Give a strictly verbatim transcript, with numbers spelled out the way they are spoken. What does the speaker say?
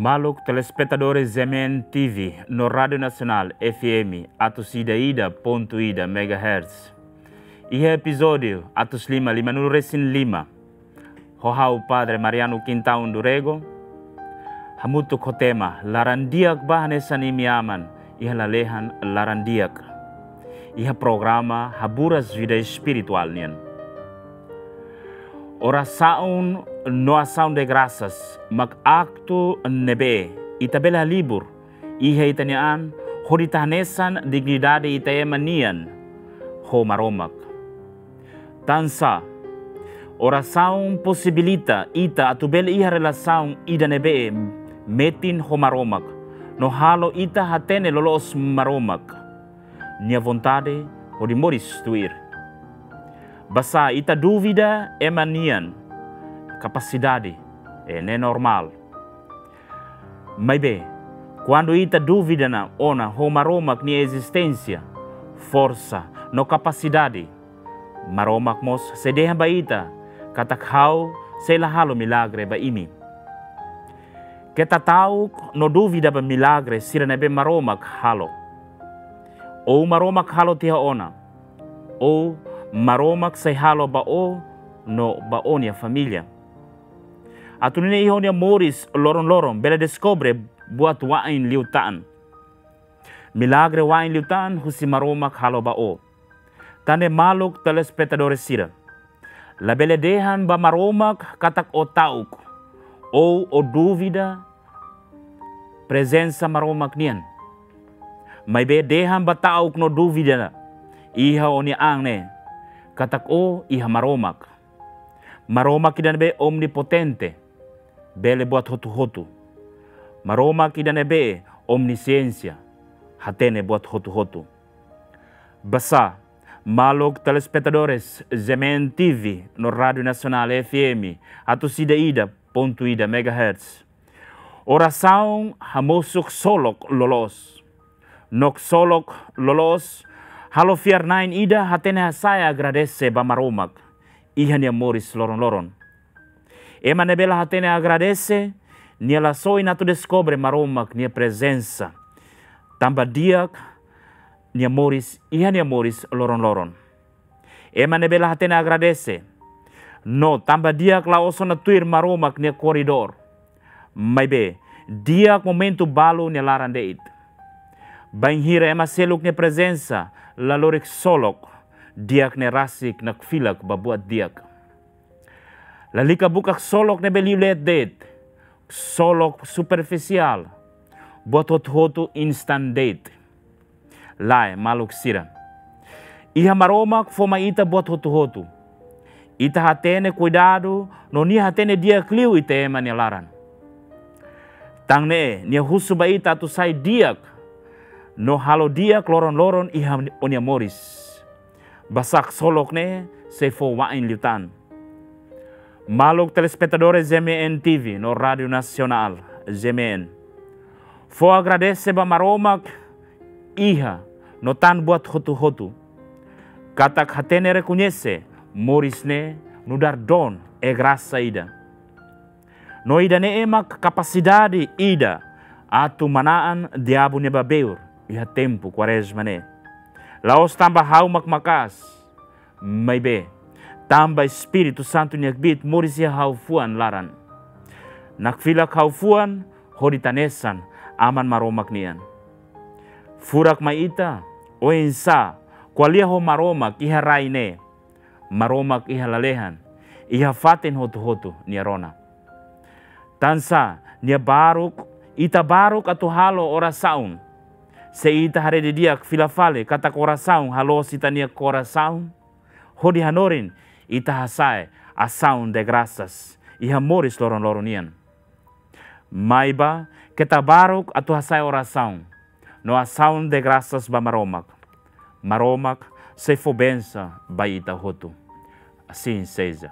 Maluk telespetadores G M N T V no Rádiu Nasionál F M atus ida ida pontu ida megahertz. Iha epizódiu atus lima limanulu resin lima, ho ha'u Padre Mariano Quintão do Rego, hamutuk ho tema Laran Di'ak Ba Hanesan Imi Aman iha Lalehan Laran Di'ak, iha programa Haburas Vida Espirituál nian. Orasaun no asaun de grasas mak aktu ne'ebé ita bele halibur iha ita-nia an hodi ita hanesan dignidade ita ema nian ho Maromak. Tansá, orasaun posibilita ita atu bele iha relasaun ida ne'ebé metin ho Maromak, no halo ita hatene loloos Maromak nia vontade hodi moris tuir. Basá ita dúvida ema nian kapasidade, eh, ne'e normál. Maibé, kuandu ita dúvida ona ho Maromak nia ezisténsia, forsa no kapasidade, Maromak mós sei dehan ba ita katak ha'u sei la halo milagre ba imi. Keta ta'uk no dúvida ba milagre sira ne'ebé Maromak halo. Ou Maromak halo tiha ona, ou Maromak sei halo ba ó no ba ó-nia família. Atu nune'e iha ó-nia moris loron-loron bele deskobre buat wa'in liután. Milagre wa'in liután husi Maromak halo ba ó. Tan ne'e maluk telespetadores sira, labele dehan ba Maromak katak ó ta'uk, ou ó dúvida prezensa Maromak nian. Maibé dehan ba ta'uk no dúvida iha ó-nia an ne'e, katak ó iha Maromak. Maromak ida ne'ebé omnipotente, bele buat hotu-hotu. Maromak ida ne'ebé omnisiénsia, hatene buat hotu-hotu. Basá, maluk telespetadores G M N T V no Rádiu Nasionál F M atus ida ida pontu ida megahertz, orasaun hamosu ksolok loloos. No ksolok loloos halo fiar-na'in ida hatene hasa'e agradese ba Maromak iha nia moris loron-loron. Ema ne'ebé la hatene agradese, nia la soin atu deskobre Maromak nia prezensa, tanba di'ak nia moris iha nia moris loron-loron. Ema ne'ebé la hatene agradese, no tanba di'ak la'ós ona tuir Maromak nia koridór. Maibé, di'ak momentu balu nia laran de'it. Bainhira ema seluk nia prezensa la lori ksolok, di'ak ne'e rasik nakfilak ba buat di'ak. Lalika buka ksolok ne'ebé liu leet de'it, ksolok superfisiál, buat hotu-hotu instan de'it. Lae, maluk sira. Iha Maromak fó mai ita buat hotu-hotu. Ita hatene kuidadu, no nia hatene di'ak liu ita ema nia laran. Tan ne'e, nia husu ba ita atu sai di'ak, no halo di'ak loron-loron iha ó-nia moris. Basá ksolok ne'e sei fó wa'in liután. Maluk telespetadores G M N T V no Rádiu Nasionál G M N. Fó agradese ba Maromak iha no tan buat hotu-hotu. Katak hatene rekoñese moris ne'e nu'udar don, eh, grasa ida. No ida-ne'e mak kapasidade ida atu manán diabu nia babeur iha tempu Kuarezma ne'e. La'ós tanba ha'u mak maka'as, maibé tanba Espíritu Santu nia kbiit moris iha ha'u-fuan laran. Nakfilak ha'u-fuan hodi ita hanesan Aman Maromak nian. Furak mai ita, oinsá ko'alia ho Maromak iha rai ne'e, Maromak iha lalehan, iha fatin hotu-hotu nia rona. Tansá, nia baruk, ita baruk atu halo orasaun. Se ita haree didi'ak fila fali katak orasaun haloos ita-nia korasaun, hodi hanorin ita hasa'e asaun de grasas iha moris loron-loron nian. Maibé, keta baruk atu hasa'e orasaun no asaun de grasas ba Maromak. Maromak sei fó bensa ba ita hotu. Assim seja.